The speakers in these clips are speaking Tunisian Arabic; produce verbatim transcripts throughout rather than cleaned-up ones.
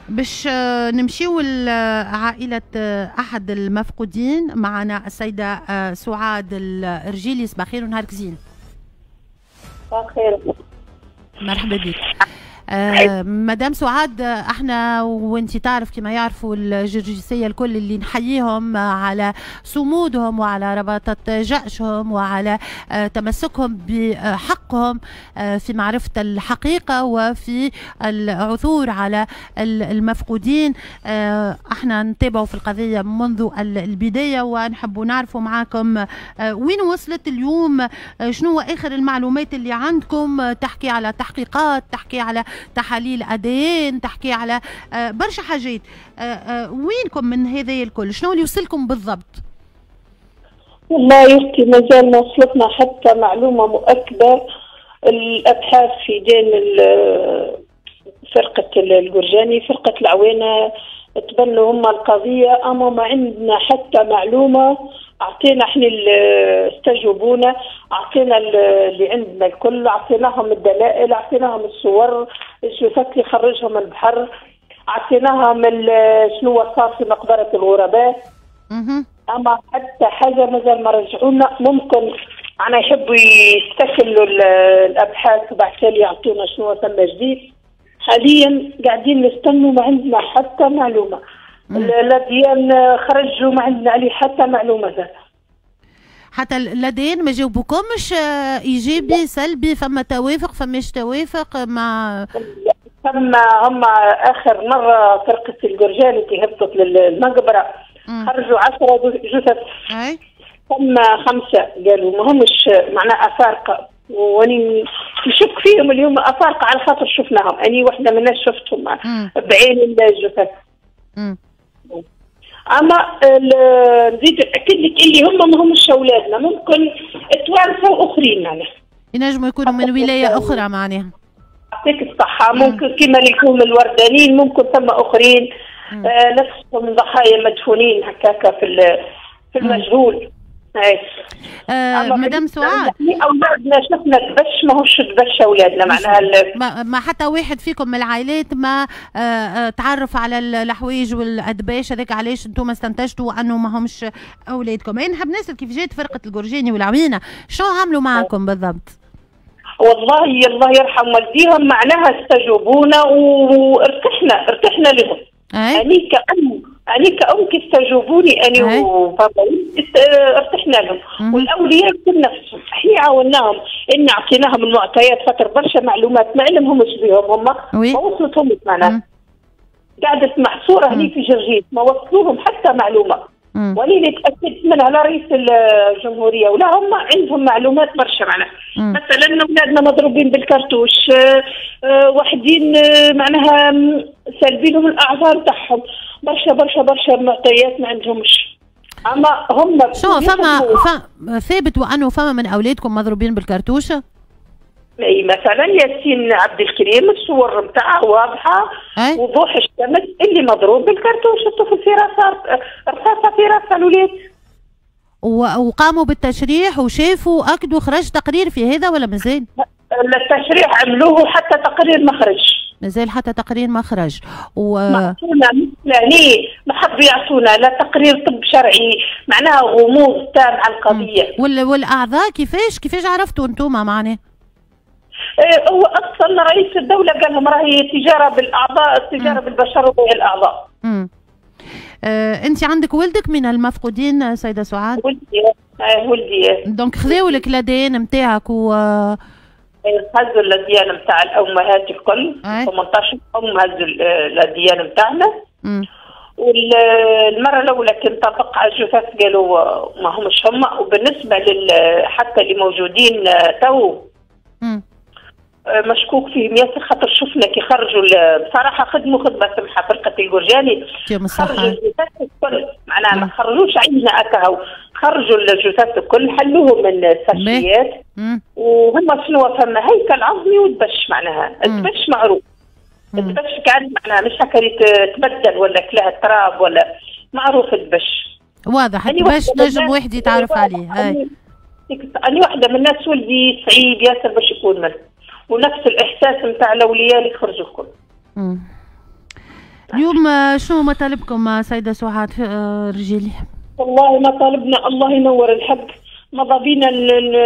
باش نمشيو لعائلة أحد المفقودين. معنا السيدة سعاد الرجيلي. صباح الخير ونهارك زين. صباح الخير، مرحبا بك. آه مدام سعاد، احنا وانت تعرف كما يعرفوا الجرجسية الكل اللي نحييهم على صمودهم وعلى رباطة جأشهم وعلى آه تمسكهم بحقهم آه في معرفة الحقيقة وفي العثور على المفقودين. آه احنا نتابعوا في القضية منذ البداية ونحبوا نعرفوا معاكم آه وين وصلت اليوم، آه شنو هو آخر المعلومات اللي عندكم، آه تحكي على تحقيقات، تحكي على تحاليل أدين، تحكي على برشا حاجات. وينكم من هذا الكل؟ شنو اللي وصلكم بالضبط؟ والله يا اختي مازال ما وصلتنا حتى معلومة مؤكدة. الابحاث في دين فرقه الجرجاني، فرقه العوينة، تبنوا هم القضية، اما ما عندنا حتى معلومة. اعطينا احنا استجوبونا، اعطينا اللي عندنا الكل، اعطيناهم الدلائل، اعطيناهم الصور، الجثث اللي خرجهم من البحر، اعطيناهم شنو صار في مقبره الغرباء. اما حتى حاجة مازال ما رجعونا. ممكن انا يحبوا يستكملوا الابحاث وبعد تالي يعطونا شنو ثم جديد. حاليا قاعدين نستنوا، ما عندنا حتى معلومة. l'ADN خرجوا ما عندنا عليه حتى معلومة زاد. حتى l'ADN ما جاوبوكمش ايجابي سلبي؟ فما توافق فماش توافق؟ ما ثم هم اخر مرة فرقه الجرجاني كي هبطت للمقبره خرجوا عشرة جثث، ثم خمسة قالوا ما همش معناها افارقه، واني نشك فيهم اليوم افارقه على خاطر شفناهم، اني واحدة من الناس شفتهم بعين الجثث. مم. اما نزيد ناكد لك اللي هم ما همش اولادنا، ممكن توانسة واخرين معناها ينجموا يكونوا من ولاية اخرى معناها. يعطيك الصحة، ممكن كما اللي يكونوا الوردانيين، ممكن ثم اخرين آه نفسهم ضحايا مدفونين هكاكا في في المجهول. آه مدام سعاد، اولادنا شفنا دبش ماهوش دبش اولادنا معناها. ما, ما حتى واحد فيكم من العائلات ما آه آه تعرف على الحوايج والادباش هذاك، علاش انتم استنتجتوا انه ما همش اولادكم؟ انا نحب نسال كيف جات فرقه الجرجاني والعوينه، شنو عملوا معكم بالضبط؟ والله الله يرحم والديهم معناها استجوبونا وارتحنا، ارتحنا لهم. أني كأم، أني كأم كي استجوبوني أني وبابا ارتحنا لهم، والأولياء كل نفسهم، احنا عاوناهم إن أعطيناهم المعطيات خاطر برشا معلومات ما علمهمش بهم هم، ما وصلتهمش معناها. قعدت محصورة هني في جرجيس، ما وصلوهم حتى معلومة. وأنا اللي تأكدت منها لا رئيس الجمهورية ولا هم عندهم معلومات برشا معناها. مثلا أولادنا مضروبين بالكرتوش، أه واحدين معناها سالبينهم الأعذار تاعهم، برشا برشا برشا معطيات ما عندهمش. أما هم شو فما ف... ثابت وأنه فما من أولادكم مضروبين بالكرتوشة؟ اي مثلا ياسين عبد الكريم الصور نتاعه واضحة وضوح الشمس اللي مضروب بالكرتوش، الطفل في راسه رصاصة في راسه الولاد. وقاموا بالتشريح وشافوا اكدوا، خرج تقرير في هذا ولا مازال؟ التشريح عملوه حتى تقرير ما خرج. مازال حتى تقرير ما خرج. و ما مثلاني ما حبوا يعطونا لا تقرير طب شرعي، معناها غموض تام على القضية. وال... والاعضاء كيفاش كيفاش عرفتوا انتم معناه؟ هو اصلا رئيس الدولة قال لهم راهي تجارة بالاعضاء، التجارة بالبشر وبيع الاعضاء. امم آه، انت عندك ولدك من المفقودين سيده سعاد؟ ولدي اه ولدي. donc خذاو لك l'ADN نتاعك و هزوا l'ADN نتاع الامهات الكل، ثمنطاش ام هزوا l'ADN نتاعنا. والمرة الاولى كي انطبق على الجثث قالوا ما همش هما، وبالنسبة لل حتى اللي موجودين تو مشكوك فيهم ياسر، خاطر شفنا كي خرجوا بصراحة خدموا خدمة سمحه فرقه الجرجاني، خرجوا الجثث الكل معناها ما خرجوش عندنا اكاهو، خرجوا الجثث الكل حلوهم من الساشيات، وهم شنو فما هيكل عظمي ودبش معناها، الدبش معروف، الدبش كان معناها مش هكا تبدل ولا كلها تراب ولا معروف الدبش واضح، الدبش نجم واحد يتعرف عليه. هاي أنا واحدة من الناس ولدي صعيب ياسر باش يكون منه، ونفس الإحساس نتاع الأولياء اللي خرجوا الكل. اليوم شنو مطالبكم سيده سعاد رجالي؟ والله مطالبنا الله ينور الحق، ماذا بينا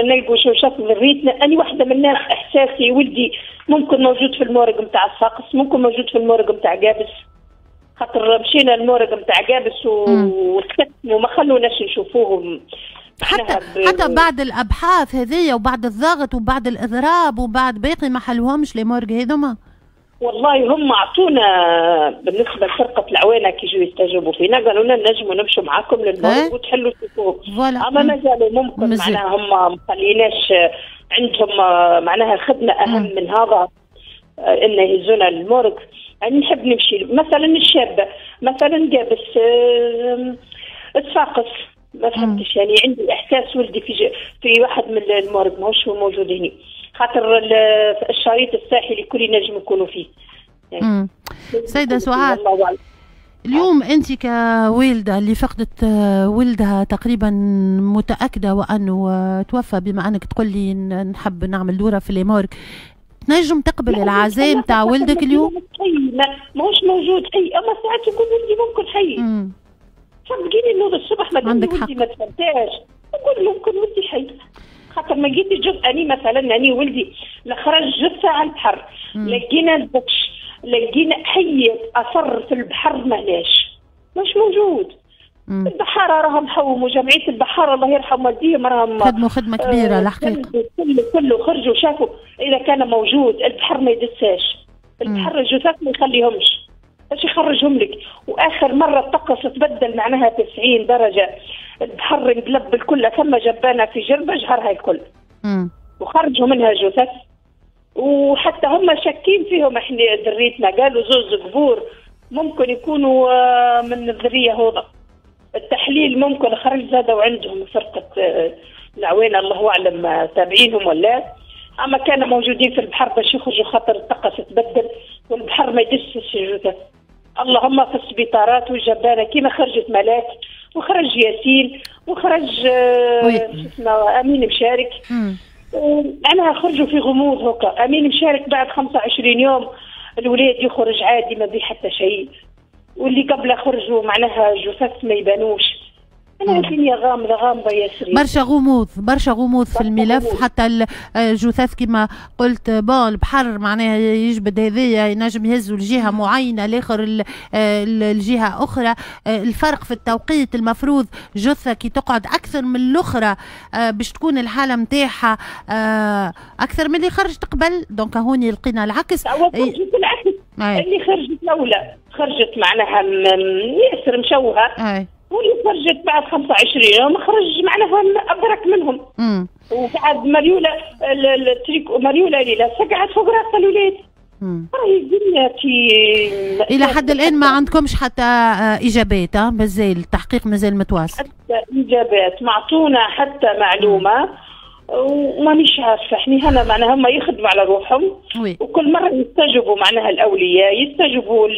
نلقوا شوشات ذريتنا. أنا واحدة من الناس إحساسي ولدي ممكن موجود في ال morgue نتاع الصاقص، ممكن موجود في ال morgue نتاع قابس، خاطر مشينا ال morgue نتاع قابس وسكتنا وما خلوناش نشوفوهم. حتى ب... حتى بعد الأبحاث هذيا وبعد الضغط وبعد الإضراب وبعد باقي ما حلوهمش les morgues هذوما. والله هم اعطونا بالنسبة لفرقة العوانه كي يجوا يستجوبوا فينا قالوا لنا نجموا نمشوا معاكم لل morgue وتحلوا تشوفوهم، اما مازالوا ممكن معناها هم ما خليناش عندهم معناها الخدمة اهم مم. من هذا ان يهزونا لل morgue. يعني نحب نمشي مثلا الشابة مثلا قابس صفاقس، ما فهمتش يعني عندي احساس ولدي في في واحد من ال morgue ماهوش موجود هنا، خاطر الشريط الساحلي كل نجم يكونوا فيه. يعني سيدة سعاد، اليوم انت كوالده اللي فقدت ولدها تقريبا متاكدة وانه توفى، بما انك تقول لي نحب نعمل دوره في les morgues، تنجم تقبل العزاء نتاع ولدك اليوم؟ ماهوش موجود حي، اما ساعات يكون ولدي ممكن حي. صدقيني نوض الصبح ما ولدي ما تفهمتهاش، نقول ممكن ولدي حي، خاطر ما لقيتش جثة. اني مثلا اني ولدي خرج جثة على البحر، لقينا البكش، لقينا حي اثر في البحر ماهناش، مش موجود. مم. البحارة راهم حوموا، جمعية البحارة الله يرحم والديهم راهم خدموا خدمة كبيرة آه الحقيقة، كله كله خرجوا شافوا اذا كان موجود. البحر ما يدساش، البحر الجثث ما يخليهمش باش يخرجهم لك. واخر مرة الطقس تبدل معناها تسعين درجه، البحر انقلب الكل، ثم جبانه في جربه جهرها الكل. مم. وخرجوا منها جثث، وحتى هم شاكين فيهم. احنا ذريتنا قالوا زوز قبور ممكن يكونوا من الذرية هذا. التحليل ممكن خرج زاد وعندهم فرقه العوانه الله اعلم تابعينهم ولا، اما كانوا موجودين في البحر باش يخرجوا خاطر الطقس تبدل والبحر ما يدسش الجثث. اللهم في السبيطارات والجبانه كيما خرجت ملاك وخرج ياسين وخرج اسمه امين مشارك، معناها خرجوا في غموض هكا. امين مشارك بعد خمسة وعشرين يوم الولاد يخرج عادي ما بيه حتى شيء، واللي قبله خرجوا معناها جثث ما يبانوش. أنا الدنيا غامضة غامضة ياسر، برشا غموض، برشا غموض في الملف غموض. حتى الجثث كما قلت bon البحر معناها يجبد هذايا ينجم يهزوا لجهة معينة الآخر الجهة أخرى. الفرق في التوقيت، المفروض جثة كي تقعد أكثر من الأخرى باش تكون الحالة نتاعها أكثر من اللي خرجت قبل، donc هوني لقينا العكس. العكس اللي خرجت الأولى خرجت معناها ياسر مشوهة، واللي خرجت بعد خمسة وعشرين يوم خرج معناها أبرك منهم. مم. وبعد مريولة التريك مريولة اللي لابسة قعدت فوق راس الولاد. راهي الدنيا في إلى حد الآن ما عندكمش حتى إجابات، مازال التحقيق مازال متواصل. حتى إجابات معطونا حتى معلومة ومانيش عارفة. احنا هنا معناها هم يخدموا على روحهم، وكل مرة يستجيبوا معناها الأولياء، يستجيبوا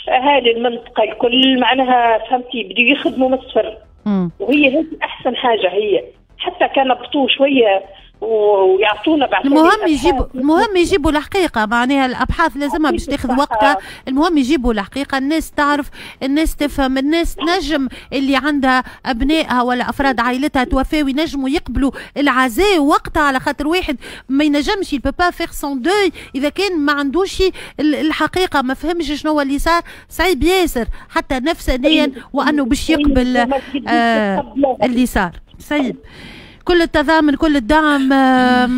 اهالي المنطقة الكل معناها فهمتي، بدوا يخدموا من الصفر. وهي هذه احسن حاجة، هي حتى كان بطوا شوية ويعطونا بعد. المهم يجيبوا، المهم يجيبوا الحقيقة، معناها الابحاث لازمها باش تاخذ وقتها. المهم يجيبوا الحقيقة، الناس تعرف، الناس تفهم، الناس تنجم اللي عندها ابنائها ولا افراد عائلتها توفاو ينجموا يقبلوا العزاء وقتها، على خاطر واحد ما ينجمش il peut pas faire son deuil اذا كان ما عندوش الحقيقة، ما فهمش شنو اللي صار، صعيب ياسر حتى نفسانيا وانه باش يقبل آه اللي صار. صعيب. كل التضامن، كل الدعم،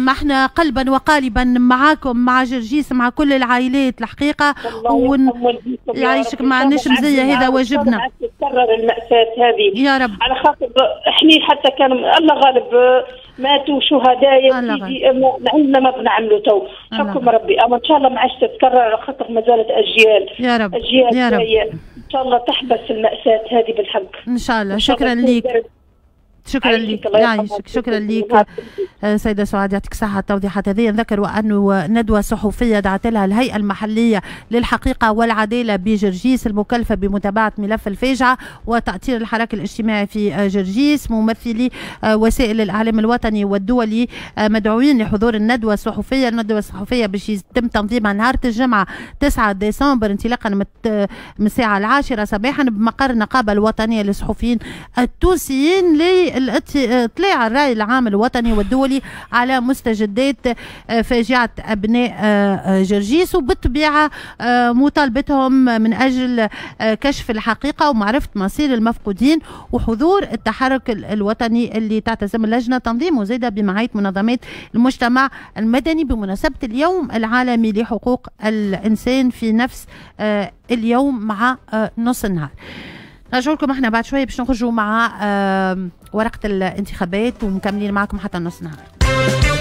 احنا قلبا وقالبا معاكم، مع جرجيس، مع كل العائلات الحقيقة. ويعيشك ما عندناش مزية، هذا واجبنا. تتكرر المأساة هذه يا رب، على خاطر احنا حتى كانوا الله غالب ماتوا شهداء يا سيدي، عندنا ما بنعملوا تو حكم ربي، اما ان شاء الله ما عادش تتكرر على خاطر ما زالت اجيال يا رب، اجيال يا رب ان شاء الله تحبس المأساة هذه بالحق ان شاء الله. شكرا لك، شكرا لك، يعيشك، شكرا لك سيدة سعاد، يعطيك الصحة التوضيحات هذه. نذكر أنه ندوة صحفية دعت لها الهيئة المحلية للحقيقة والعدالة بجرجيس المكلفة بمتابعة ملف الفاجعة وتأطير الحراك الاجتماعي في جرجيس، ممثلي وسائل الإعلام الوطني والدولي مدعوين لحضور الندوة الصحفية. الندوة الصحفية باش يتم تنظيمها نهار الجمعة تسعة ديسمبر انطلاقا من الساعة العاشرة صباحا بمقر النقابة الوطنية للصحفيين التونسيين لاطلاع الرأي العام الوطني والدولي على مستجدات فاجعة أبناء جرجيس، وبالطبيعة مطالبتهم من أجل كشف الحقيقة ومعرفة مصير المفقودين وحضور التحرك الوطني اللي تعتزم اللجنة تنظيمه زادة بمعية منظمات المجتمع المدني بمناسبة اليوم العالمي لحقوق الإنسان في نفس اليوم مع نص النهار. نرجع لكم احنا بعد شوية باش نخرجوا مع ورقة الانتخابات ومكملين معكم حتى نص النهار.